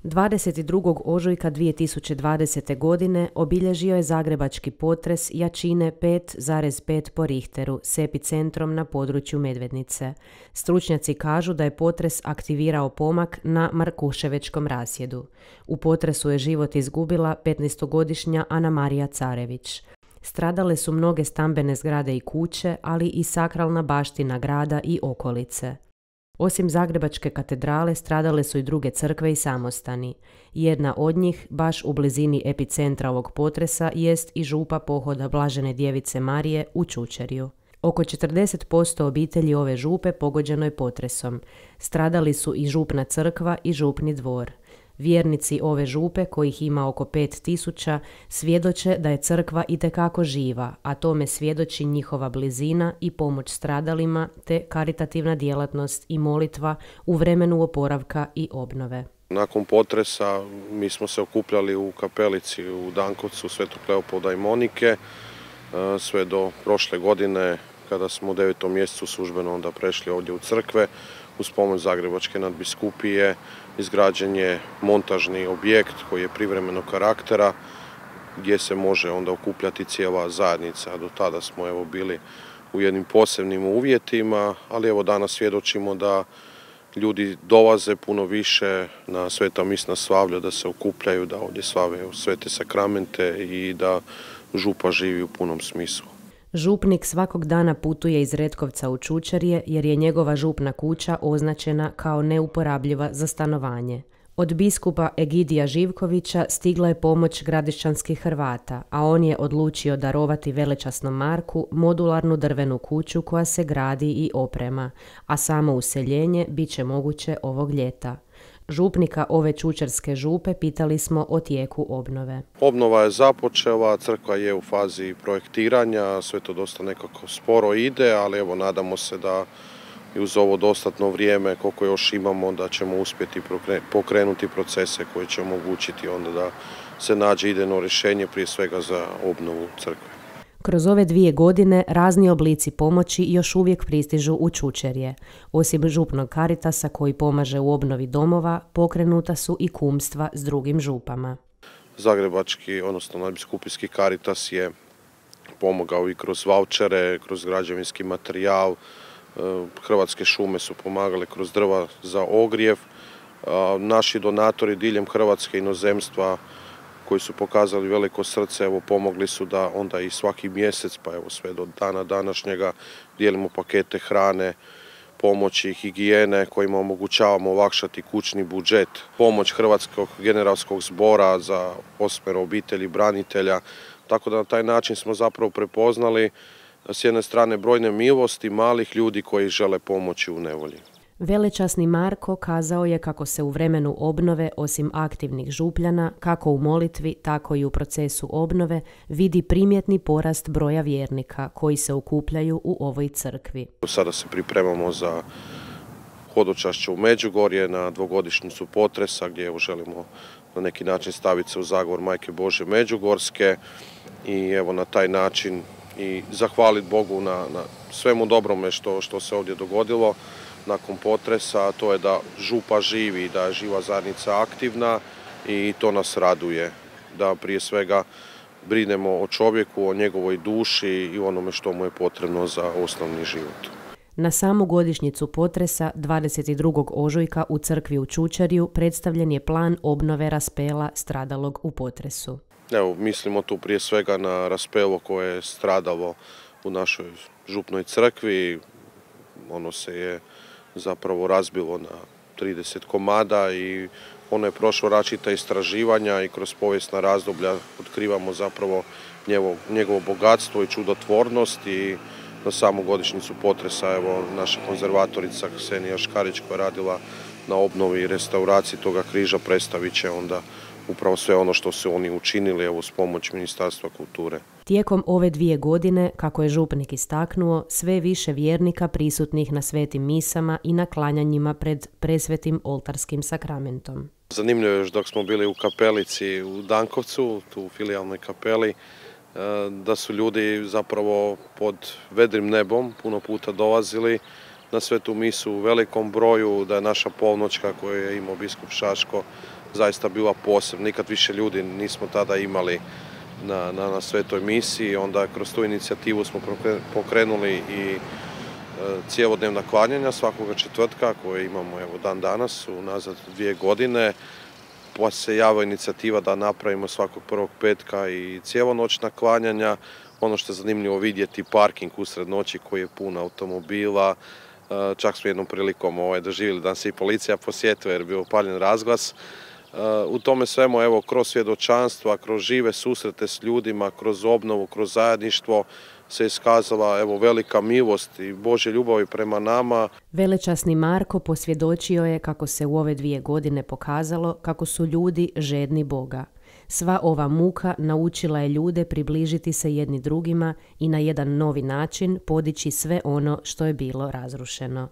22. ožujka 2020. godine obilježio je zagrebački potres jačine 5,5 po Richteru s epicentrom na području Medvednice. Stručnjaci kažu da je potres aktivirao pomak na Markuševečkom rasjedu. U potresu je život izgubila 15-godišnja Ana Marija Carević. Stradale su mnoge stambene zgrade i kuće, ali i sakralna baština grada i okolice. Osim Zagrebačke katedrale stradale su i druge crkve i samostani. Jedna od njih, baš u blizini epicentra ovog potresa, jest i župa pohoda Blažene djevice Marije u Čučerju. Oko 40% obitelji ove župe pogođeno je potresom. Stradali su i župna crkva i župni dvor. Vjernici ove župe, kojih ima oko 5000, svjedoče da je crkva itekako živa, a tome svjedoči njihova blizina i pomoć stradalima te karitativna djelatnost i molitva u vremenu oporavka i obnove. Nakon potresa mi smo se okupljali u kapelici u Dankovcu Svetog Leopolda i Monike sve do prošle godine kada smo u 9. mjesecu službeno onda prešli ovdje u crkve. Uz pomoć Zagrebačke nadbiskupije izgrađen je montažni objekt koji je privremenog karaktera gdje se može onda okupljati cijela zajednica. Do tada smo bili u jednim posebnim uvjetima, ali danas svjedočimo da ljudi dolaze puno više na sveta misna slavlja, da se okupljaju, da ovdje slave svete sakramente i da župa živi u punom smislu. Župnik svakog dana putuje iz Retkovca u Čučerje jer je njegova župna kuća označena kao neuporabljiva za stanovanje. Od biskupa Egidija Živkovića stigla je pomoć gradišćanskih Hrvata, a on je odlučio darovati velečasnom Marku modularnu drvenu kuću koja se gradi i oprema, a samo useljenje bit će moguće ovog ljeta. Župnika ove čučerske župe pitali smo o tijeku obnove. Obnova je započela, crkva je u fazi projektiranja, sve to dosta nekako sporo ide, ali nadamo se da i uz ovo dostatno vrijeme koliko još imamo da ćemo uspjeti pokrenuti procese koji će omogućiti onda da se nađe idejno rješenje prije svega za obnovu crkve. Kroz ove 2 godine razni oblici pomoći još uvijek pristižu u Čučerje. Osim župnog Karitasa koji pomaže u obnovi domova, pokrenuta su i kumstva s drugim župama. Zagrebački, odnosno nadbiskupijski Karitas je pomogao i kroz vaučere, kroz građevinski materijal. Hrvatske šume su pomagale kroz drva za ogrijev. Naši donatori diljem Hrvatske, inozemstva, koji su pokazali veliko srce, pomogli su da onda i svaki mjesec, pa sve do dana današnjega dijelimo pakete hrane, pomoći, higijene kojima omogućavamo olakšati kućni budžet, pomoć Hrvatskog generalskog zbora za 8 obitelji branitelja, tako da na taj način smo zapravo prepoznali s jedne strane brojne milosti malih ljudi koji žele pomoći u nevolji. Velečasni Marko kazao je kako se u vremenu obnove, osim aktivnih župljana, kako u molitvi, tako i u procesu obnove, vidi primjetni porast broja vjernika koji se okupljaju u ovoj crkvi. Sada se pripremamo za hodočašće u Međugorje na 2-godišnjicu potresa gdje želimo na neki način staviti se u zagovor Majke Božje Međugorske i na taj način i zahvaliti Bogu na svemu dobrome što se ovdje dogodilo nakon potresa, to je da župa živi, da je živa zajednica aktivna i to nas raduje. Da prije svega brinemo o čovjeku, o njegovoj duši i onome što mu je potrebno za osnovni život. Na samu godišnjicu potresa 22. ožujka u crkvi u Čučerju predstavljen je plan obnove raspela stradalog u potresu. Mislimo tu prije svega na raspelo koje je stradalo u našoj župnoj crkvi. Ono se je zapravo razbilo na 30 komada i ono je prošlo različita istraživanja i kroz povijesna razdoblja otkrivamo zapravo njegovo bogatstvo i čudotvornost i na samu godišnjicu potresa naša konzervatorica Ksenija Škarić koja je radila na obnovi i restauraciji toga križa predstavit će onda upravo sve ono što su oni učinili s pomoć Ministarstva kulture. Tijekom ove 2 godine, kako je župnik istaknuo, sve više vjernika prisutnih na svetim misama i na klanjanjima pred presvetim oltarskim sakramentom. Zanimljivo je još dok smo bili u kapelici u Dankovcu, tu u filijalnoj kapeli, da su ljudi zapravo pod vedrim nebom puno puta dolazili na svetu misu u velikom broju, da je naša polnoćka koju je imao biskup Šaško zaista bila posebna. Nikad više ljudi nismo tada imali na svetoj misiji. Onda kroz tu inicijativu smo pokrenuli i cjelodnevna klanjanja svakoga četvrtka koje imamo dan danas, unazad 2 godine. Pa se javila inicijativa da napravimo svakog prvog petka i cijelonoćna klanjanja. Ono što je zanimljivo vidjeti, parking usred noći koji je pun automobila. Čak smo jednom prilikom doživjeli da se i policija posjetila jer je bio upaljen razglas. U tome svemu, kroz svjedočanstva, kroz žive susrete s ljudima, kroz obnovu, kroz zajedništvo se iskazala velika milost i Božja ljubav prema nama. Velečasni Marko posvjedočio je kako se u ove 2 godine pokazalo kako su ljudi žedni Boga. Sva ova muka naučila je ljude približiti se jedni drugima i na jedan novi način podići sve ono što je bilo razrušeno.